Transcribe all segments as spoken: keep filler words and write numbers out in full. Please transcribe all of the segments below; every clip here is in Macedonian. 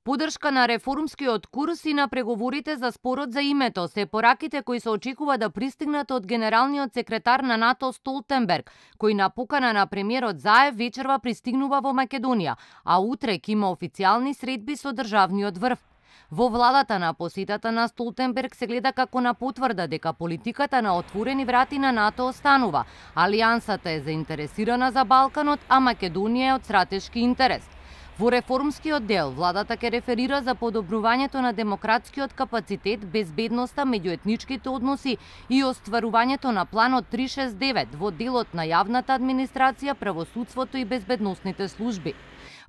Подршка на реформскиот курс и на преговорите за спорот за името се пораките кои се очекува да пристигнат од генералниот секретар на НАТО Столтенберг, кој на покана на премиерот Заев вечерва пристигнува во Македонија, а утре ќе има официјални средби со државниот врв. Во владата на посетата на Столтенберг се гледа како на потврда дека политиката на отворени врати на НАТО останува. Алијансата е заинтересирана за Балканот, а Македонија е од стратешки интерес. Во реформскиот дел, владата ќе реферира за подобрувањето на демократскиот капацитет, безбедноста, меѓуетничките односи и остварувањето на планот триста шесто и девет во делот на јавната администрација, правосудството и безбедносните служби.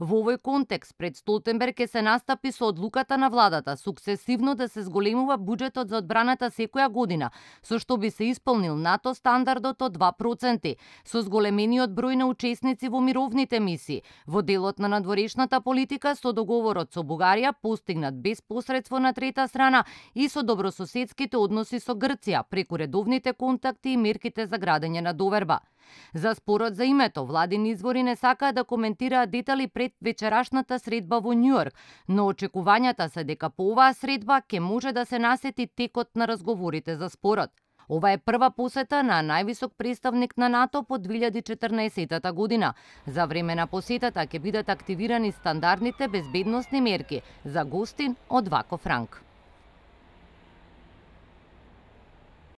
Во овој контекст, пред Столтенберг ќе се настапи со одлуката на владата суксесивно да се зголемува буџетот за одбраната секоја година, со што би се исполнил НАТО стандардот од два проценти, со зголемениот број на учесници во мировните мисии, во делот на надворешната политика со договорот со Бугарија постигнат без посредство на трета страна и со добрососедските односи со Грција преку редовните контакти и мерките за градење на доверба. За спорот за името, владини извори не сакаат да коментираат детали пред вечерашната средба во Њујорк, но очекувањата се дека по оваа средба ќе може да се насети текот на разговорите за спорот. Ова е прва посета на највисок представник на НАТО по две илјади и четрнаесетта година. За време на посетата ќе бидат активирани стандардните безбедносни мерки за гостин од ваков ранг.